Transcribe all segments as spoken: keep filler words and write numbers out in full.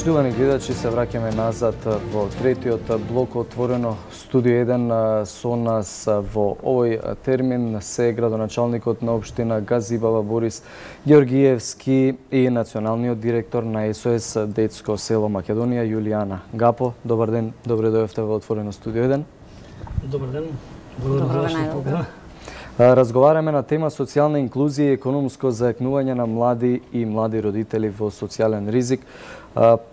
Почитувани гледачи, се враќаме назад во третиот блок Отворено студио еден. Со нас во овој термин се градоначалникот на општина Газибала Борис Георгиевски и националниот директор на Ес О Ес Детско село Македонија Јулијана Гапо. Добар ден, добре дојдовте во Отворено студио еден. Добар ден. Благодарам за покана. Разговараме на тема социјална инклузија и економско зајакнување на млади и млади родители во социјален ризик.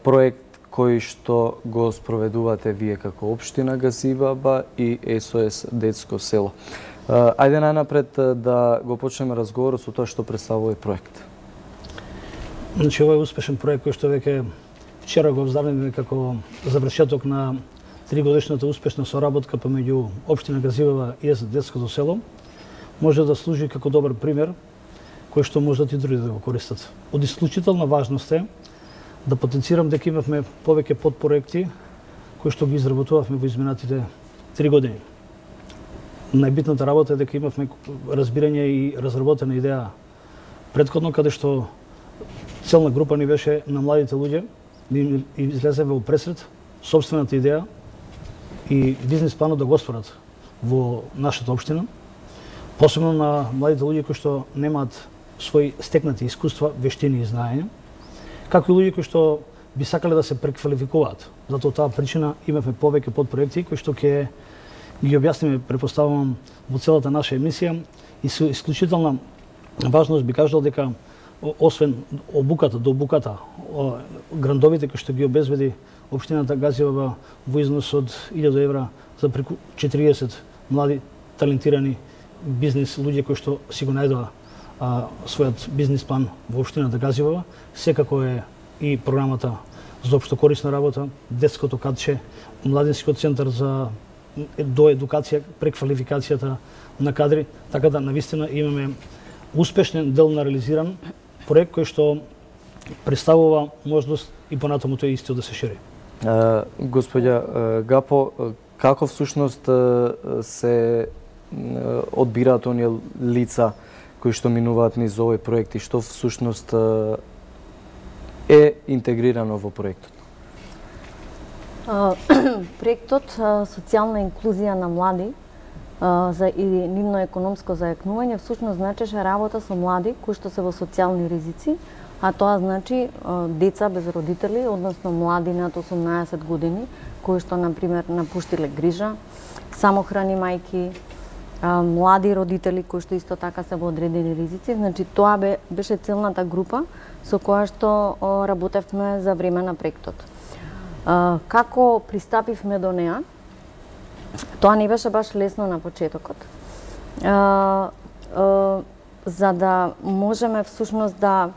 Проект кој што го спроведувате вие како општина Газибаба и Ес О Ес Детско село. Ајде најнапред да го почнеме разговорот со тоа што представува овој проект. Значи, овој успешен проект кој што веќе вчера го оздравивме како завршеток на тригодишната успешна соработка помеѓу општина Газибаба и Ес О Ес Детското село, може да служи како добар пример кој што можат и други да го користат. Од исклучителна важност е да потенцирам дека имавме повеќе подпроекти кои што ги изработувавме во изминатите три години. Најбитната работа е дека имавме разбирање и разработена идеја претходно, каде што целна група ни беше на младите луѓе, и излеземе во пресред собствената идеја и бизнис планот да го оспорат во нашата општина, посебно на младите луѓе кои што немаат свои стекнати искуства, вештини и знаења, како и луѓе кои што би сакале да се преквалификуваат. Затоа таа причина имавме повеќе подпроекти кои што ќе ги објасниме, претпоставувам, во целата наша емисија, и со исклучителна важност би кажал дека освен обуката до обуката, грантовите кои што ги обезбеди општината Газибаба во износ од илјада евра за преку четириесет млади талентирани бизнес луѓе кои што си го најдоа а, својот бизнес план во општината Газибаба, секако е и програмата за општо корисна работа, детското кадче, младинскиот центар за доедукација, преквалификацијата на кадри, така да навистина имаме успешен дел на реализиран проект кој што представува можност и понатаму тој исто да се шири. Uh, Господја uh, Гапо, како всушност uh, се одбираат оние лица кои што минуваат низ овој проект и што всушност е интегрирано во проектот? Проектот социјална инклузија на млади за и нивно економско зајакнување всушност значеше работа со млади кои што се во социјални ризици, а тоа значи деца без родители, односно млади над осумнаесет години кои што на пример напуштиле грижа, самохрани мајки, млади родители кои што исто така се во одредени ризици. Значи тоа бе, беше целната група со која што работевме за време на проектот. Како пристапивме до неа? Тоа не беше баш лесно на почетокот. За да можеме всушност да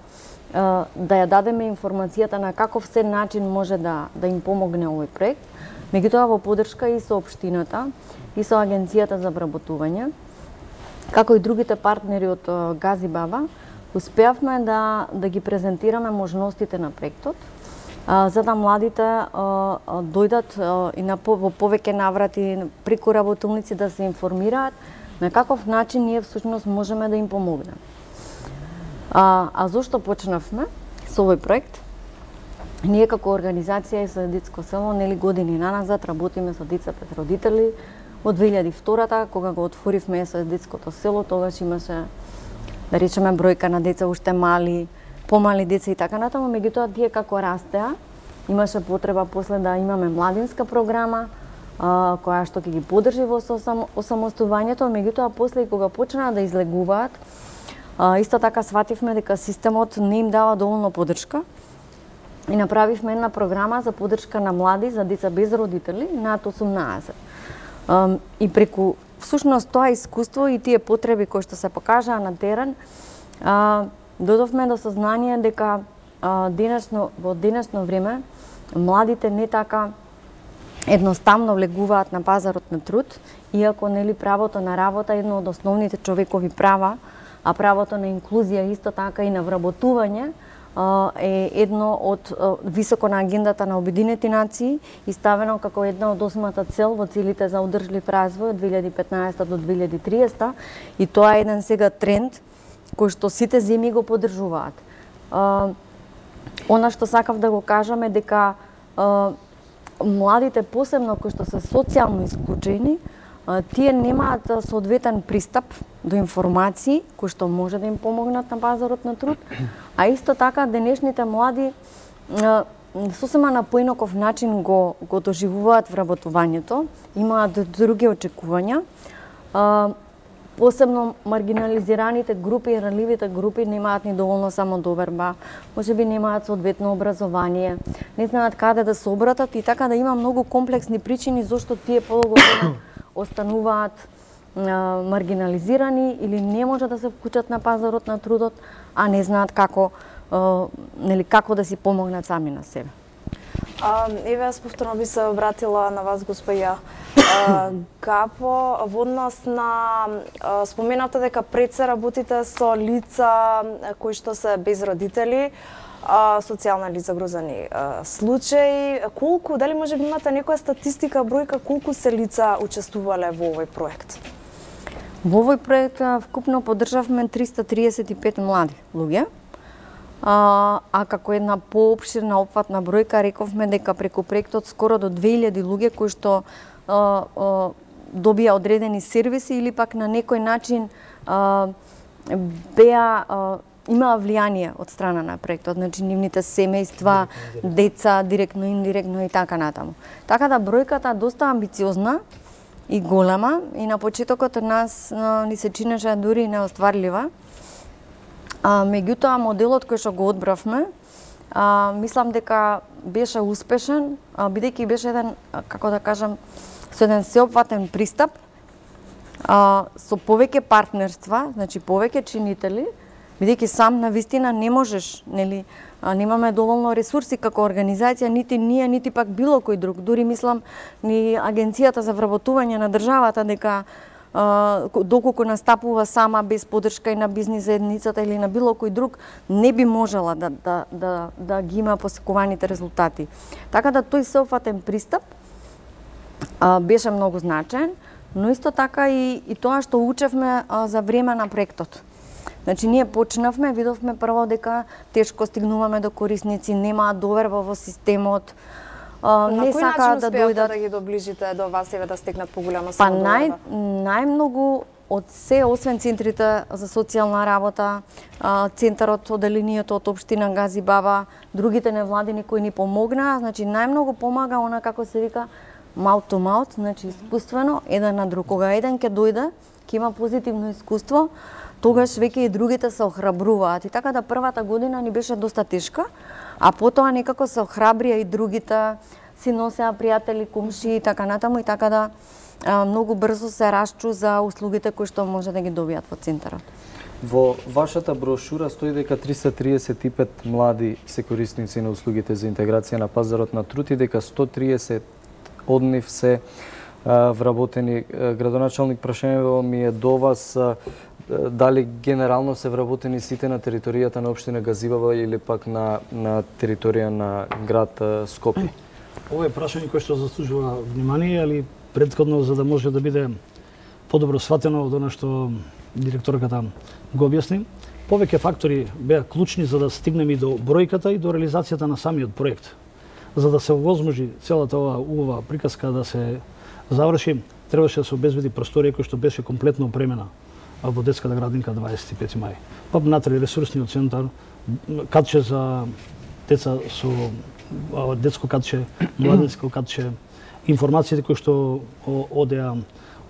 да ја дадеме информацијата на каков се начин може да да им помогне овој проект, меѓутоа во поддршка и со општината и со Агенцијата за вработување, како и другите партнери од Газибаба, успеавме да да ги презентираме можностите на проектот, а, за да младите а, дојдат а, и на во повеќе наврати преку работилници да се информираат на каков начин ние всушност можеме да им помогнеме. А, а зошто почнавме со овој проект? Ние како организација Ес О Ес Детско село нели години наназад работиме со деца без родители. Од две илјади и втора, кога го отворивме Ес О Ес Детското село, тогаш имаше, да речеме, бројка на деца уште мали, помали деца и така натаму, меѓутоа тие како растеа, имаше потреба после да имаме младинска програма, а, која што ќе ги поддржи во осамостувањето, меѓутоа после кога почнаа да излегуваат, а, исто така свативме дека системот не им дава доволно поддршка и направивме една програма за поддршка на млади за деца без родители над осумнаесет. И преку всушност тоа искуство и тие потреби кои што се покажаа на терен, додовме до сознание дека денешно во денешно време младите не така едноставно влегуваат на пазарот на труд, иако нели правото на работа е едно од основните човекови права, а правото на инклузија исто така и на вработување е едно од високо на агендата на Обединети нации и ставено како една од осмата цел во целите за одржлив развој од две илјади и петнаесета до две илјади и триесета, и тоа е еден сега тренд кој што сите земји го поддржуваат. Она што сакав да го кажам е дека а, младите, посебно кои што се социјално исклучени, а, тие немаат соодветен пристап до информации кои што може да им помогнат на пазарот на труд, а исто така денешните млади а, сосема на поинаков начин го, го доживуваат вработувањето, имаат други очекувања. А, посебно маргинализираните групи и ранливите групи немаат ни доволно самодоверба, можеби немаат соодветно образование, не знаат каде да се обратат и така да има многу комплексни причини зашто тие подолго време остануваат а, маргинализирани или не може да се вклучат на пазарот на трудот, а не знаат како Uh, нели како да си помогнат сами на себе. А, еве, јас повторно би се обратила на вас, госпоја uh, Гапо, во однос на uh, споменавте дека пред се работите со лица кои што се без родители, uh, социјално или загрозени uh, случаи. Колку, дали може би имате некоја статистика, бројка, колку се лица учествувале во овој проект? Во овој проект вкупно поддржавме триста триесет и пет млади луѓе. А, а како една поопширна опфатна бројка рековме дека преку проектот скоро до две илјади луѓе кои што а, а, добија одредени сервиси или пак на некој начин а, беа а, имаа влијание од страна на проектот, значи нивните семејства, деца, директно, индиректно и така натаму. Така да бројката доста амбициозна и голема и на почетокот од нас а, ни се чинеше дури неостварлива. А, меѓутоа, моделот кој што го одбравме, а, мислам дека беше успешен, а, бидејќи беше еден, а, како да кажам, со еден сеопфатен пристап, а, со повеќе партнерства, значи повеќе чинители, бидејќи сам на вистина не можеш, нели, а, немаме доволно ресурси како организација, нити ние, нити пак било кој друг. Дури мислам ни Агенцијата за вработување на државата дека Uh, доколку настапува сама без поддршка и на бизнис заедницата или на било кој друг, не би можела да, да, да, да ги има посекуваните резултати. Така да тој сеопфатен пристап uh, беше многу значаен, но исто така и, и тоа што учевме uh, за време на проектот. Значи, ние почнавме, видовме прво дека тешко стигнуваме до корисници, немаат доверба во системот, Uh, на не кој сака начин да успеавте дојдат да ги доближите до вас, еве да стигнат поголема Па самодоверба? нај, најмногу од се, освен центрите за социјална работа, центарот, оделението од општина Газибаба, другите невладини кои ни помогнаа, значи најмногу помага она како се вика mouth to mouth, значи искуствено, еден на друг. Кога еден ќе дојде, ќе има позитивно искуство, тогаш веќе и другите се охрабруваат. И така да првата година ни беше доста тешка, а потоа некако се охрабрија и другите, си носеа пријатели, комши и така натаму, и така да а, многу брзо се расчу за услугите кои што може да ги добијат во центарот. Во вашата брошура стои дека триста триесет и пет млади се корисници на услугите за интеграција на пазарот на труд и дека сто триесет од нив се а, вработени. Градоначалник, прашањето ми е до вас, а, дали генерално се вработени сите на територијата на општина Газибаба или пак на, на територија на град Скопје? Ова е прашање кое што заслужува внимание, али претходно за да може да биде подобро сватено од она што директорката го објасни. Повеќе фактори беа клучни за да стигнеме и до бројката и до реализацијата на самиот проект. За да се овозможи целата оваа убава приказка да се заврши, требаше да се обезбеди просторија која што беше комплетно опремена во детската градинка дваесет и пети мај. Па внатре ресурсниот центар, катче за деца со детско катче, младинско катче, информациите кои што одеа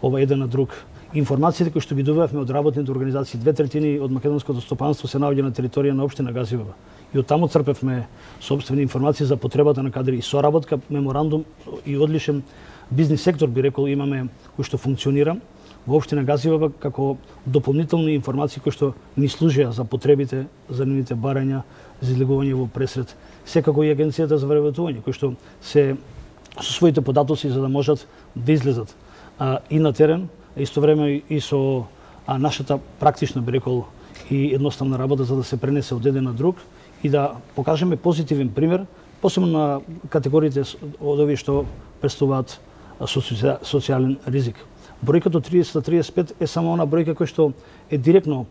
ова еден на друг, информациите кои што ги добивавме од работните организации, две третини од македонското стопанство се наоѓа на територија на општина Газибаба. И од таму црпевме собствени информации за потребата на кадри и соработка, меморандум и одличен бизнис сектор, би рекол, имаме кој што функционира во општина Газибаба како дополнителни информации кои што ни служеа за потребите, за нивните барања, за излегување во пресред. Секако и Агенцијата за вработување, кои што се со своите податоци за да можат да излезат а, и на терен, а исто време и со а, нашата практична, би рекол, и едноставна работа за да се пренесе од еден на друг и да покажеме позитивен пример, посебно на категориите од овие што представуваат социјален ризик. Бројката триесет триесет и пет е само она бројка која што е директно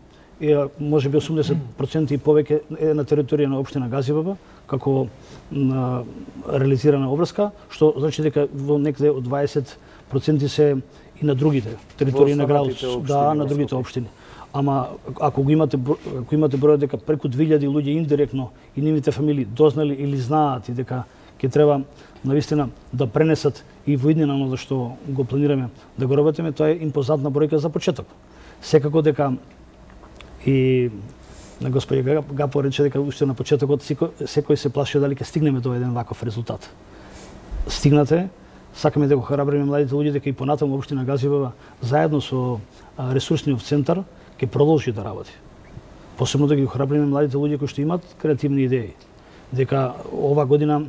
може би осумдесет проценти и повеќе е на територија на општина Газибаба, како на реализирана обврска, што значи дека во некаде од дваесет проценти се и на другите територии на градот, да, на другите општини. Ама ако го имате ако имате број дека преку две илјади луѓе индиректно и нивните фамилии дознали или знаат и дека ќе треба навистина да пренесат и во иднина оно што го планираме да го работиме, тоа е импозантна бројка за почеток. Секако дека и на господја Гапо рече дека уште на почетокот секој, секој се плаши дали ќе стигнеме до еден ваков резултат. Стигнате, сакаме да го храбриме младите луѓе дека и понатаму општина Газибаба заедно со ресурсниот центар ќе продолжи да работи. Посебно да ги храбриме младите луѓе кои што имаат креативни идеи. Дека ова година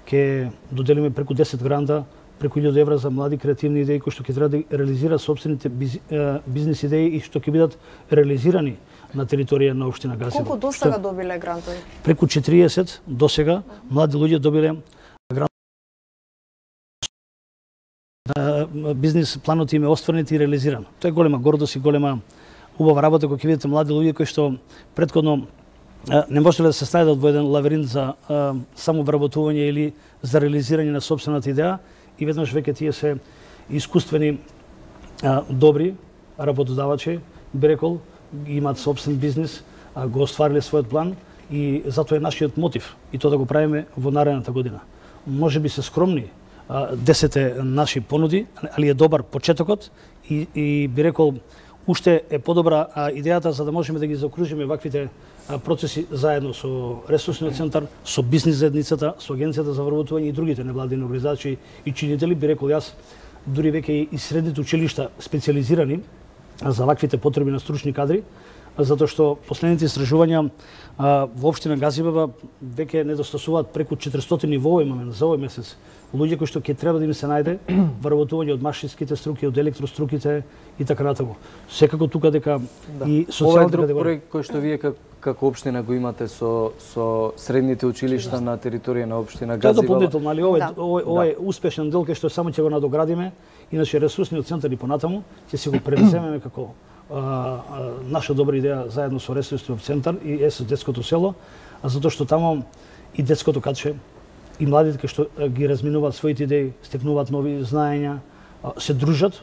ќе доделиме преку десет гранта, преку илјада евра за млади креативни идеи кои што ќе треба да реализираат собствените бизнис идеи и што ќе бидат реализирани на територија на општина Газибаба. Колку досега добиле грантови? Преку четириесет досега млади луѓе добиле грант. Бизнис планот им е остварен и реализиран. Тоа е голема гордост и голема убава работа кога ќе видите млади луѓе кои што претходно не можеле да се снајдат во еден лавиринт за самовработување или за реализирање на собствената идеја и веднаш веќе тие се искуствени добри работодавачи, би рекол, имаат собствен бизнис, го оствариле својот план и затоа е нашиот мотив и тоа да го правиме во наредната година. Може би се скромни десете наши понуди, али е добар почетокот и, и би рекол уште е подобра идејата за да можеме да ги заокружиме ваквите процеси заедно со ресурсниот центар, со бизнис заедницата, со агенцијата за вработување и другите невладини организации и чинители, би рекол јас, дури веќе и средните училишта специализирани за ваквите потреби на стручни кадри, затоа што последните истражувања во општина Газибаба веќе недостасуваат преку четиристотини во овој момент за овој месец луѓе кои што ќе треба да им се најде вработување од машинските струки, од електроструките и така натаму. Секако тука дека да. И социјалната категорија. Ова е друг проект кој што вие како, како општина го имате со со средните училишта на територија на општина Газибаба. Тоа дополнително, али овој овој овој да. Успешен дел кај што само ќе го надоградиме, иначе ресурсниот центар и понатаму ќе се го превземеме како а, а, наша добра идеја заедно со ресурсниот центар и ес детското село, а затоа што таму и детското катче и младите кои што ги разминуваат своите идеи, стекнуваат нови знаења, се дружат,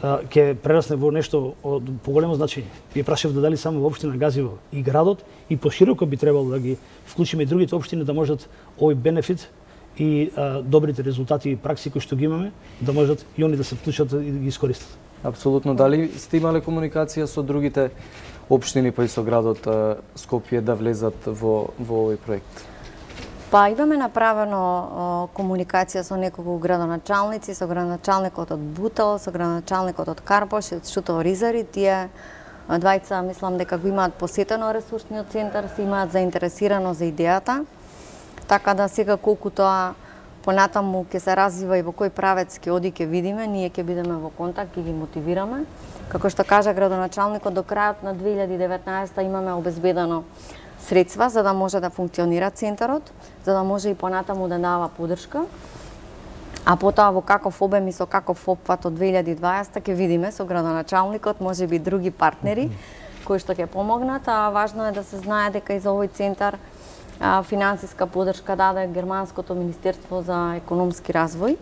ќе прерасне во нешто од поголемо значење. Ви прашав да дали само во општина Газибаба и градот и пошироко би требало да ги вклучиме и другите општини да можат овој бенефит и а, добрите резултати и пракси кои што ги имаме да можат и они да се вклучат и да ги искористат. Апсолутно. Дали сте имале комуникација со другите општини па и со градот Скопје да влезат во во овој проект? Па имаме направено о, комуникација со неколку градоначалници, со градоначалникот од Бутел, со градоначалникот од Карпош и од Шутово Ризари. Тие двајца мислам дека го имаат посетено ресурсниот центар, се имаат заинтересирано за идејата. Така да сега колку тоа понатаму ќе се развива и во кој правец ќе оди ќе видиме, ние ќе бидеме во контакт и ги мотивираме. Како што кажа градоначалникот, до крајот на две илјади и деветнаесетта имаме обезбедено средства за да може да функционира центарот, за да може и понатаму да дава поддршка. А потоа во каков обем и со каков опфат од две илјади и дваесетта ќе видиме со градоначалникот, може би други партнери кои што ќе помогнат, а важно е да се знае дека и за овој центар а, финансиска поддршка даде Германското министерство за економски развој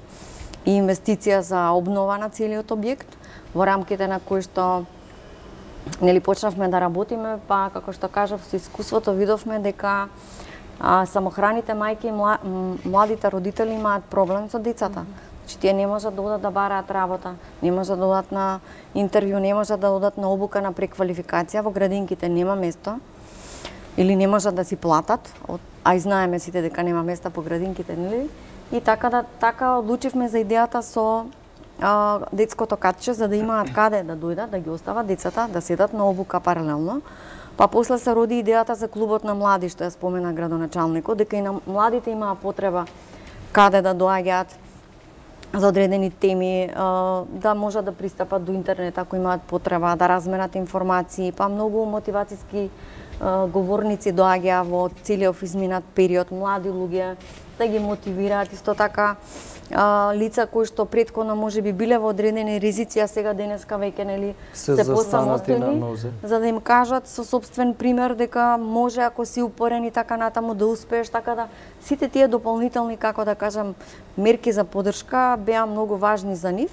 и инвестиција за обнова на целиот објект, во рамките на кои што нели почнавме да работиме, па како што кажав, со искуството видовме дека а, самохраните мајки и младите родители имаат проблем со децата. Значи тие не можат да одат да бараат работа, не можат да одат на интервју, не можат да одат на обука на преквалификација, во градинките нема место или не можат да си платат, а и знаеме сите дека нема места по градинките, нели? И така да така одлучивме за идејата со а, детското катче, за да имаат каде да дојдат, да ги остават децата, да седат на обука паралелно. Па после се роди идејата за клубот на млади, што ја спомена градоначалникот, дека и на младите имаа потреба каде да доаѓаат за одредени теми, да можат да пристапат до интернет ако имаат потреба, да разменат информации, па многу мотивацијски говорници доаѓаа во целиот изминат период, млади луѓе, да ги мотивираат, исто така а, лица кои што претходно можеби биле во одредени ризици, а сега денеска веќе нели се, се застанати на посамотени, нозе, за да им кажат со собствен пример дека може ако си упорен и така натаму да успееш, така да сите тие дополнителни, како да кажам, мерки за поддршка беа многу важни за нив.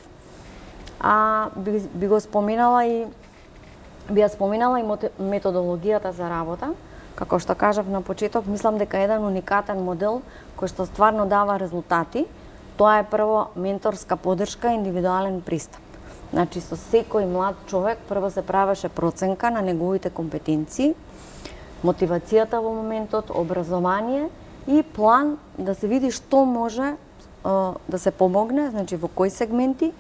А би, би го споменала и би ја споменала и методологијата за работа. Како што кажав на почеток, мислам дека еден уникатен модел кој што стварно дава резултати, тоа е прво менторска поддршка, индивидуален пристап. Значи со секој млад човек прво се правеше проценка на неговите компетенции, мотивацијата во моментот, образование и план да се види што може да се помогне, значи во кои сегменти,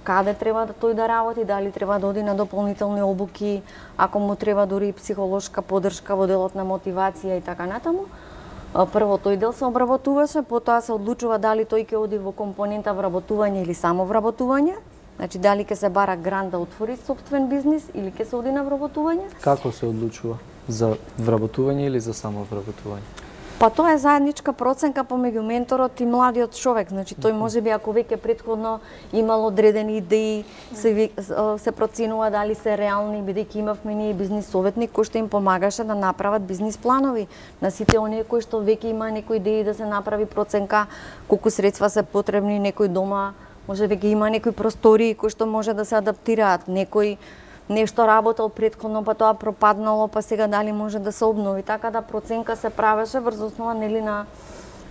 каде треба да тој да работи, дали треба да оди на дополнителни обуки, ако му треба дури и психолошка поддршка во делот на мотивација и така натаму. Прво тој дел се обработуваше, потоа се одлучува дали тој ќе оди во компонента вработување или само вработување, значи дали ќе се бара грант да отвори сопствен бизнис или ќе се оди на вработување. Како се одлучува? За вработување или за само вработување? Па тоа е заедничка проценка помеѓу менторот и младиот човек. Значи тој можеби ако веќе претходно имал одредени идеи, се се проценува дали се реални, бидејќи имавме ние бизнис советник кој што им помагаше да направат бизнис планови на сите оние кои што веќе има некои идеи да се направи проценка колку средства се потребни, некој дома може веќе има некои простори кои што може да се адаптираат, некој нешто работел претходно, па тоа пропаднало, па сега дали може да се обнови. Така да проценка се правеше врз основа нели на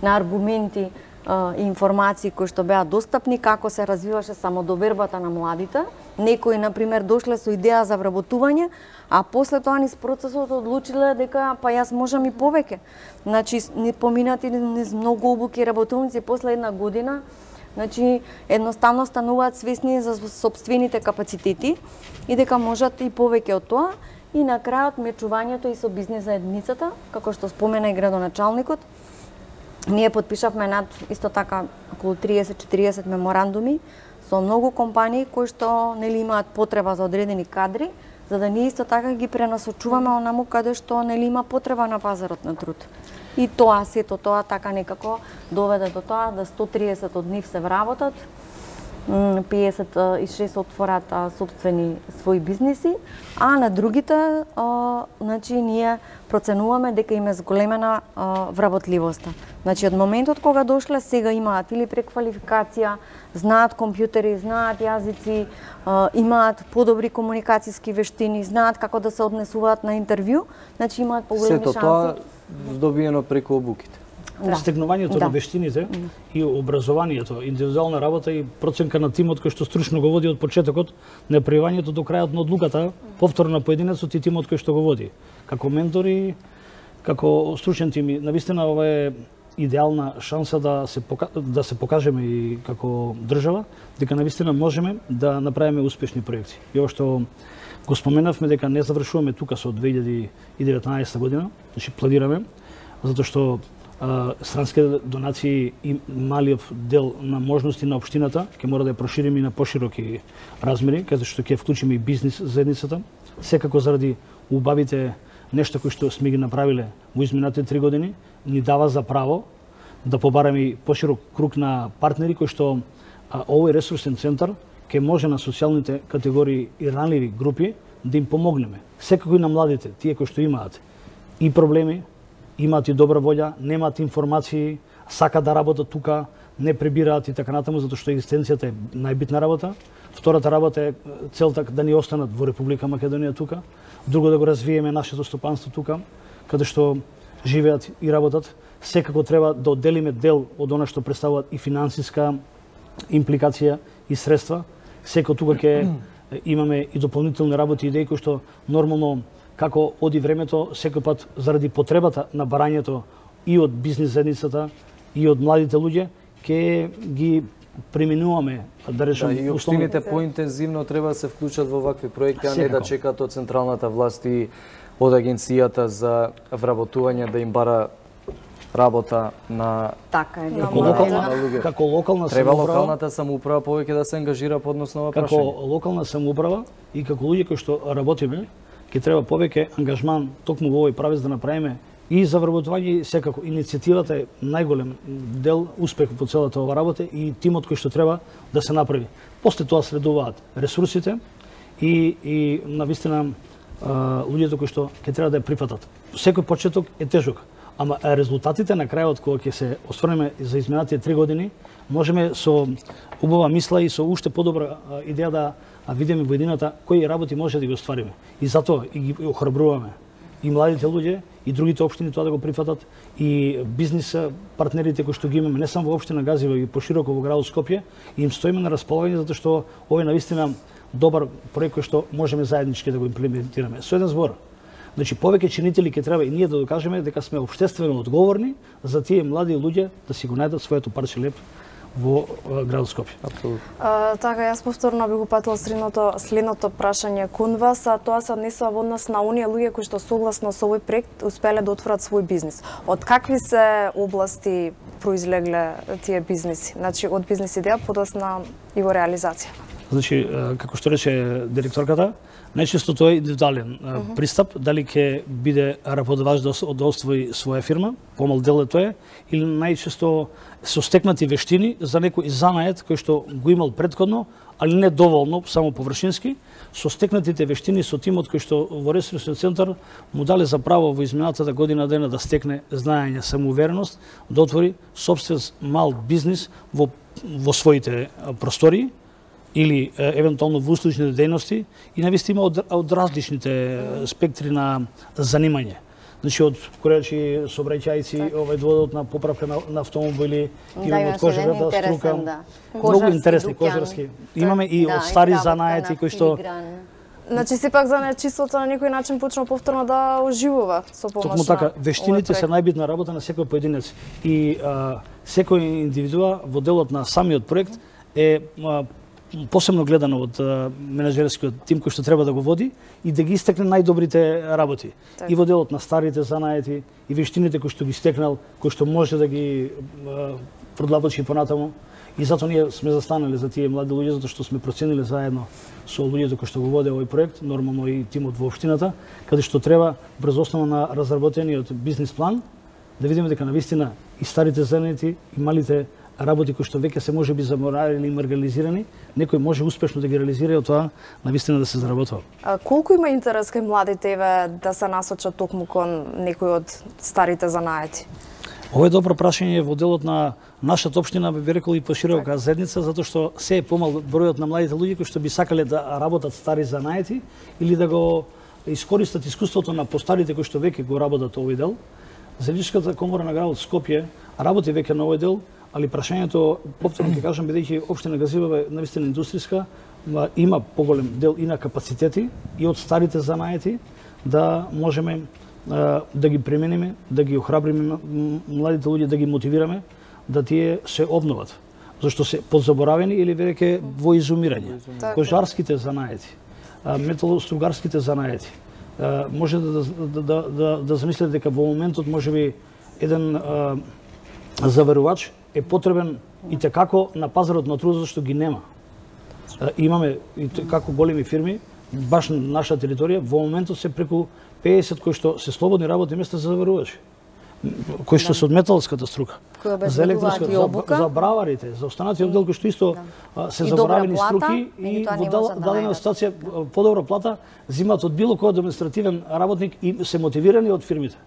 на аргументи и информации кои што беа достапни, како се развиваше самодовербата на младите. Некои на пример дошле со идеја за вработување, а после тоа низ процесот одлучиле дека па јас можам и повеќе. Значи ни поминати низ многу обуки работилници после една година. Значи, едноставно стануваат свесни за собствените капацитети и дека можат и повеќе од тоа. И на крајот мечувањето и со бизнис заедницата, како што спомена и градоначалникот, ние подпишавме над исто така околу триесет до четириесет меморандуми со многу компании кои што нели имаат потреба за одредени кадри, за да ние исто така ги пренасочуваме онаму каде што нели има потреба на пазарот на труд. И тоа, сето тоа така некако доведе до тоа да сто триесет од нив се вработат, педесет и шест отворат собствени своји бизниси, а на другите, а, значи, ние проценуваме дека им е зголемена а, вработливоста. Значи, од моментот кога дошле, сега имаат или преквалификација, знаат компјутери, знаат јазици, а, имаат подобри комуникацијски вештини, знаат како да се однесуваат на интервју, значи имаат поголеми шанси. Сето тоа здобиено преку обуките. Да. Стегнувањето да. на вештините mm. и образованието, индивидуална работа и проценка на тимот кој што стручно го води од почетокот, на пријавањето до крајот на одлуката, повторно на поединецот и тимот кој што го води. Како ментори, како стручен тим, навистина ова е идеална шанса да се пока... да се покажеме и како држава дека навистина можеме да направиме успешни проекти. И ова што го споменавме дека не завршуваме тука со две илјади и деветнаесетта година, значи планираме, затоа што странските донации и малиот дел на можности на општината ќе мора да ја прошириме и на пошироки размери, каде што ќе вклучиме и бизнис заедницата. Секако заради убавите нешта кои што сме ги направиле во изминатите три години, ни дава за право да побараме и поширок круг на партнери кои што а, овој ресурсен центар ќе може на социјалните категории и ранливи групи да им помогнеме. Секако и на младите, тие кои што имаат и проблеми, имаат и добра волја, немаат информации, сакаат да работат тука, не пребираат и така натаму, затоа што екзистенцијата е најбитна работа. Втората работа е целта да ни останат во Република Македонија тука, друго да го развиеме нашето стопанство тука, каде што живеат и работат. Секако треба да одделиме дел од она што представуваат и финансиска импликација и средства. Секако тука ќе имаме и дополнителни работи и идеи кои што нормално како оди времето, секој пат заради потребата на барањето и од бизнис заедницата и од младите луѓе, ќе ги применуваме, да речем, да, и општините поинтензивно треба да се вклучат во вакви проекти, а не да чекаат од централната власт и од агенцијата за вработување да им бара работа на така е. Како локална, како локална треба самоуправа, локалната самоуправа повеќе да се ангажира по однос на ова како прашање. локална самоуправа и како луѓе кои што работиме, ќе треба повеќе ангажман токму во овој правец да направиме И за вработување секако иницијативата е најголем дел успех во целата ова работа и тимот кој што треба да се направи. После тоа следуваат ресурсите и и навистина луѓето кои што ќе треба да ја прифатат. Секој почеток е тежок, ама резултатите на крајот кога ќе се оствариме за изминатите три години, можеме со убава мисла и со уште подобра идеја да видиме во едината кои работи може да ги оствариме. И затоа и ги охрабруваме и младите луѓе и другите општини тоа да го прифатат и бизнис партнерите кои што ги имаме не само во општина Газива и пошироко во градот Скопје, и им стоиме на располагање затоа што овој навистина добар проект кој што можеме заеднички да го имплементираме. Со еден збор, значи повеќе чинители ќе треба и ние да докажеме дека сме општествено одговорни за тие млади луѓе да си го најдат своето парче леп во градот Скопје. Апсолутно. Така, јас повторно би го патила следното, следното прашање кон вас, а тоа се однесува во однос на оние луѓе кои што согласно со овој проект успеле да отворат свој бизнис. Од какви се области произлегле тие бизниси? Значи, од бизнис идеја подосна и во реализација. Значи, како што рече директорката, најчесто тоа е индивидуален uh -huh. пристап, дали ќе биде работодавач да освои своја фирма, помал дел е тоа, или најчесто со стекнати вештини за некој занает кој што го имал претходно, али не доволно, само површински, со стекнатите вештини со тимот кој што во ресурсниот центар му дале за право во изминатата година дена да стекне знаење, самоувереност, да отвори сопствен мал бизнис во во своите простории или е, евентуално во услужните дејности и навистина од, од различните спектри на занимање. Значи од корејачи, сообраќајци, овој доводот на поправка на, на автомобили, да, имаме од кожарата струка, да. Многу интересни кожарски. Имаме и да, од стари занаети кои што Значи сепак занаетчиството на некој начин почна повторно да оживува со помош. Токму така, вештините се најбитна работа на секој поединец и а, секој индивидуа во делот на самиот проект е а, посебно гледано од менеджерскиот тим кој што треба да го води и да ги истекне најдобрите работи. Так. И во делот на старите занаети и вештините кои што ги стекнал, кои што може да ги продлабочи понатаму. И затоа ние сме застанали за тие млади луѓе, затоа што сме проценили заедно со луѓето кои што го воде овој проект, нормално и тимот во општината, каде што треба врз основа на разработениот бизнис план да видиме дека навистина и старите занаети и малите работи кои што веќе се може би заморавени или маргализирани, некој може успешно да ги реализира и од тоа навистина да се заработува. А колку има интерес кај младите еве да се насочат токму кон некој од старите занаети? Ова е добро прашање во делот на нашата општина, би рекол и поширока заедница, затоа што се е помал бројот на младите луѓе кои што би сакале да работат стари занаети или да го искористат искуството на постарите кои што веќе го работат овој дел. Заедничката комора на градот Скопје работи веќе на овој дел, али прашањето, повторно ќе кажам, бидејќи општина Газивава е навистина индустријска, има поголем дел и на капацитети и од старите занаети да можеме да ги премениме, да ги охрабриме младите луѓе, да ги мотивираме да тие се обноват, зашто се подзаборавени или веќе во изумирање. Кожарските занаети, металостругарските занаети, може да да да да, да замислите дека во моментот можеби еден заварувач е потребен и текако на пазарот на трудот што ги нема. Имаме и како големи фирми баш на наша територија во моментот се преку педесет кои што се слободни работни места за заварувачи, кои што се од металската струка, за електронска, за, за браварите, за останатиот дел кои што исто да. се заборавени струки и во дадена ситуација подобра плата зимаат од било кој административен работник и се мотивирани од фирмите.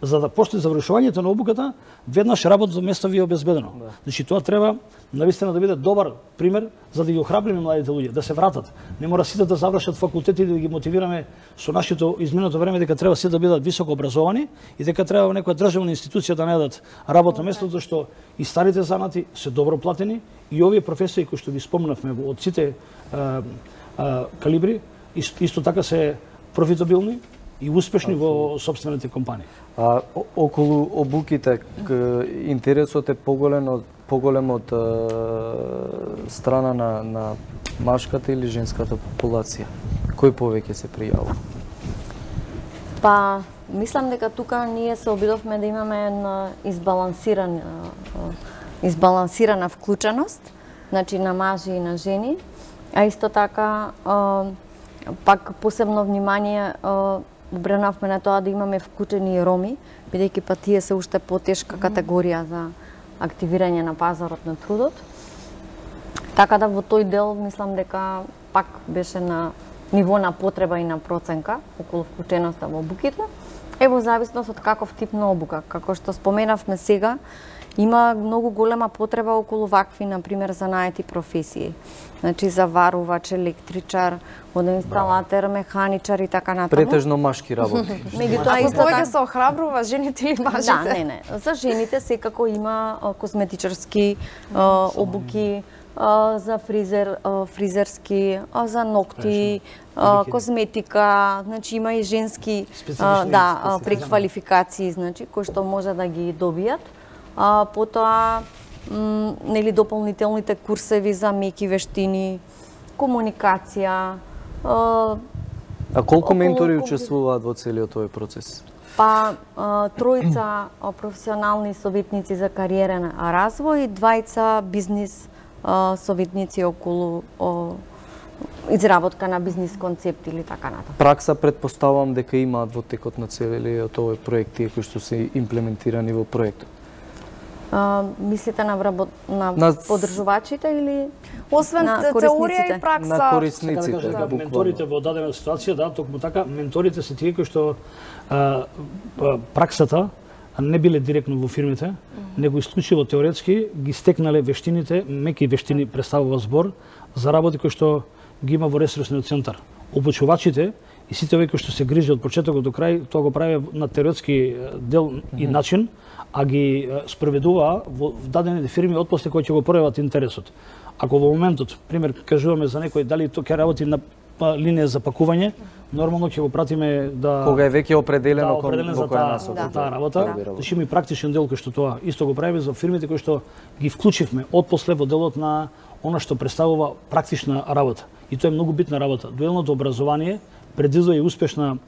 За да после завршувањето на обуката, веднаш работното место ви е обезбедено. Да. Значи тоа треба навистина да биде добар пример за да ги охрабриме младите луѓе да се вратат. Не мора сите да завршат факултети и да ги мотивираме со нашето изминато време дека треба сите да бидат високо образовани и дека треба во некоја државна институција да најдат работно место, зашто и старите занати се добро платени и овие професии кои што ги спомнавме од сите а, а, калибри исто, исто така се профитабилни и успешни во собствените компании. А околу обуките интересот е поголем од поголем од страна на на машката или женската популација. Кој повеќе се пријавува? Па, мислам дека тука ние се обидовме да имаме една избалансирана избалансирана вклученост, значи на мажи и на жени, а исто така пак посебно внимание обренавме на тоа да имаме вклучени и роми, бидејќи па тие се уште потешка категорија за активирање на пазарот на трудот. Така да во тој дел мислам дека пак беше на ниво на потреба и на проценка околу вклученоста во обуките. Е во зависност од каков тип на обука. Како што споменавме сега, има многу голема потреба околу вакви, например, занаети професии. Значи, заварувач, електричар, водоинсталатер, механичар и така натаму. Претежно машки работи. Меѓутоа исто Повеќе така се охрабрува жените или мажите? Да, не, не. За жените секако има а, косметичарски а, обуки, а, за фризер, а, фризерски, а, за ногти, а, козметика, значи има и женски а, да, а, преквалификации, значи кои што може да ги добијат. А, потоа м, нели дополнителните курсеви за меки вештини, комуникација. А, А колку околу ментори компјутер. учествуваат во целиот овој процес? Па а, тројца а, професионални советници за кариерен развој и двајца бизнис а, советници околу а, изработка на бизнис концепти или така натаму. Пракса претпоставувам дека имаат во текот на целиот овој проект тие кои што се имплементирани во проектот. А, мислите на, вработ... на, На- подржувачите или Освен на теорија корисниците? и пракса. На Така да корисниците, кажа, дека буквално. менторите во дадена ситуација, да, токму така, менторите се тие кои што а, а, праксата не биле директно во фирмите, него исклучиво теоретски ги стекнале вештините, меки вештини представува збор за работи кои што ги има во ресурсниот центар. Обучувачите и сите овие кои што се грижи од почетокот до крај, тоа го прави на теоретски дел и начин, а ги спроведуваа во дадените фирми отпосле кои ќе го пројават интересот. Ако во моментот, пример, кажуваме за некој дали тоа ќе работи на линија за пакување, нормално ќе го пратиме да Кога е веќе определено да, кон определен во за која таа, насока. за таа работа. прави работа. Значи има и практичен дел кој што тоа исто го правиме за фирмите кои што ги вклучивме отпосле во делот на она што представува практична работа. И тоа е многу битна работа. Дуелното образование предизвика и успешна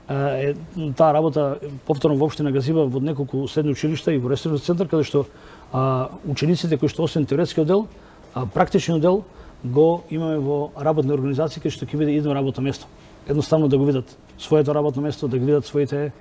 е, таа работа повторно во општина Газиба во неколку средни училишта и во ресурсен центар каде што а, учениците кои што освен теоретскиот дел, а, практичниот дел го имаме во работни организации каде што ќе биде едно работно место. Едноставно да го видат своето работно место, да ги видат своите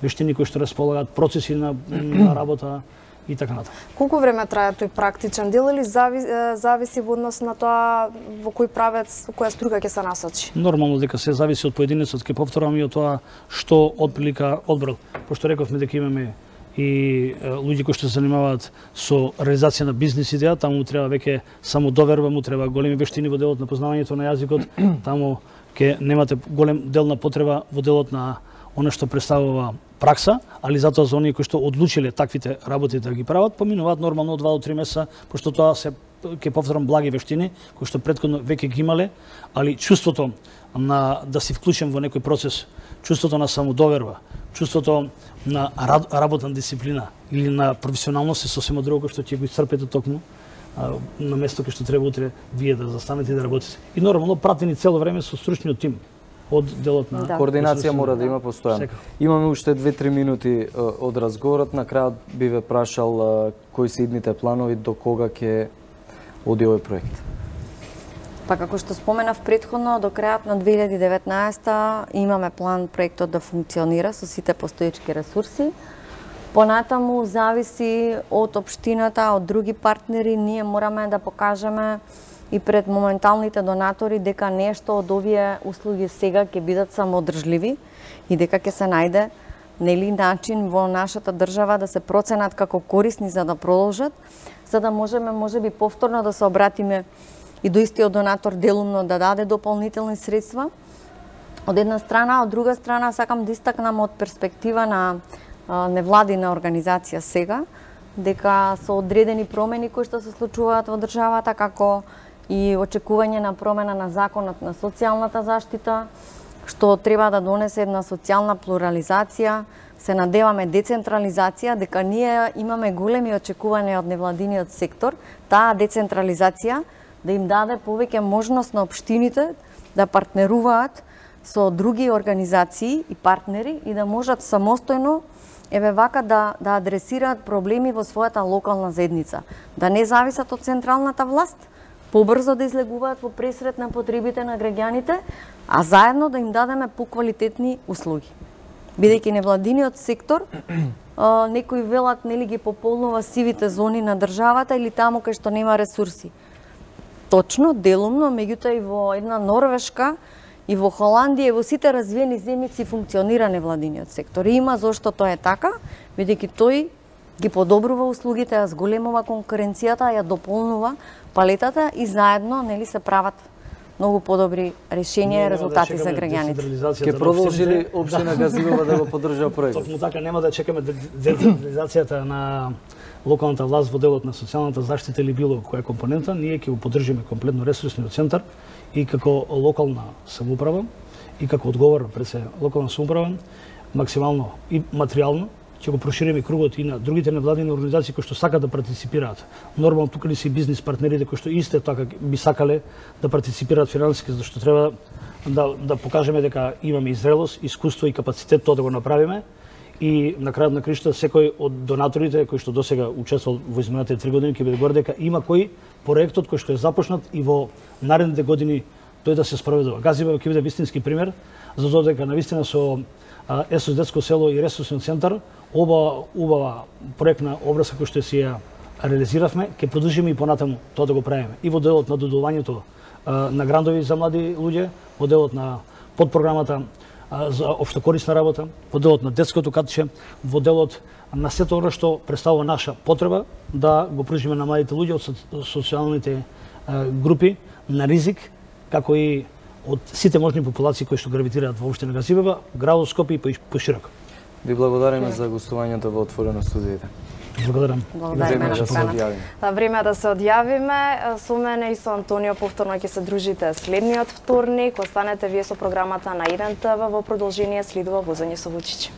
вештини кои што располагаат, процеси на, на работа и така натаму. Колку време трае тој практичен дел или зави, е, зависи во однос на тоа во кој правец, во која струка ќе се насочи? Нормално дека се зависи од поединецот, ќе повторам и од тоа што отприлика одбор. Пошто рековме дека имаме и е, луѓе кои што се занимаваат со реализација на бизнис идеја, таму треба веќе само доверба, му треба големи вештини во делот на познавањето на јазикот, таму ќе немате голем дел на потреба во делот на она што представува пракса, али затоа за оние кои што одлучиле таквите работи да ги прават, поминуваат нормално од два до три месеца, пошто тоа се ќе повторам благи вештини кои што претходно веќе ги имале, али чувството на да се вклучам во некој процес, чувството на самодоверба, чувството на работна дисциплина или на професионалност е сосема друго што ќе го исцрпите токму а, на место кај што треба утре вие да застанете и да работите. И нормално пратени цело време со стручниот тим од делот на Да. Координација мора да има постојано. Секако. Имаме уште две-три минути е, од разговорот. На крајот би ве прашал е, кои се идните планови, до кога ќе оди овој проект? Па како што споменав претходно, до крајот на две илјади и деветнаесета имаме план проектот да функционира со сите постоечки ресурси. Понатаму зависи од општината, од други партнери, ние мораме да покажеме и пред моменталните донатори дека нешто од овие услуги сега ќе бидат самоодржливи и дека ќе се најде нели начин во нашата држава да се проценат како корисни за да продолжат, за да можеме можеби повторно да се обратиме и до истиот донатор делумно да даде дополнителни средства. Од една страна, од друга страна сакам да истакнам од перспектива на а, невладина организација сега, дека со одредени промени кои што се случуваат во државата, како и очекување на промена на законот на социјалната заштита, што треба да донесе една социјална плурализација, се надеваме децентрализација, дека ние имаме големи очекувања од невладиниот сектор, таа децентрализација да им даде повеќе можност на општините да партнеруваат со други организации и партнери и да можат самостојно еве вака да да адресираат проблеми во својата локална заедница, да не зависат од централната власт, побрзо да излегуваат во пресрет на потребите на граѓаните, а заедно да им дадеме поквалитетни услуги. Бидејќи невладиниот сектор а, некои велат нели ги пополнува сивите зони на државата или таму кај што нема ресурси. Точно, делумно, меѓутоа и во една Норвешка и во Холандија и во сите развиени земји си функционира невладиниот сектор. И има зошто тоа е така, бидејќи тој ги подобрува услугите, ја зголемува конкуренцијата, ја дополнува палетата и заедно нели се прават многу подобри решенија и резултати за граѓаните. Ке продолжи ли општина Газивела да го поддржува проектот? Токму така, нема да чекаме децентрализацијата на локалната власт во делот на социјалната заштита или било која компонента, ние ќе го поддржиме комплетно ресурсниот центар и како локална самоуправа и како одговорна пред се локална самоуправа максимално и материјално ќе го прошириме кругот и на другите невладини организации кои што сакаат да партиципираат. Нормално тука ли се бизнис партнерите кои што исто така би сакале да партиципираат финансиски, зашто треба да да покажеме дека имаме и зрелост, искуство и капацитет тоа да го направиме. И на крајот на кришта секој од донаторите кои што досега учествувал во изминатите три години ќе биде горд дека има кој проектот кој што е започнат и во наредните години тој да се спроведува. Газивела ќе биде вистински пример за тоа дека навистина со ЕСОС детско село и ресурсниот центар оба убава проектна обврска која што си ја реализиравме, ќе продолжиме и понатаму тоа да го правиме. И во делот на додувањето на грантови за млади луѓе, во делот на подпрограмата за општокорисна работа, во делот на детското катче, во делот на сето оно што представува наша потреба да го пружиме на младите луѓе од социјалните групи на ризик, како и од сите можни популации кои што гравитираат во општина Газивела, градот Скопје и пошироко. Ви благодариме за гостувањето во Отворено студиите. Благодарам. Благодариме на поканата. Да, време е да се одјавиме. Со мене и со Антонио повторно ќе се дружите следниот вторник. Останете вие со програмата на еден те ве, во продолжение следува возење со Вучич.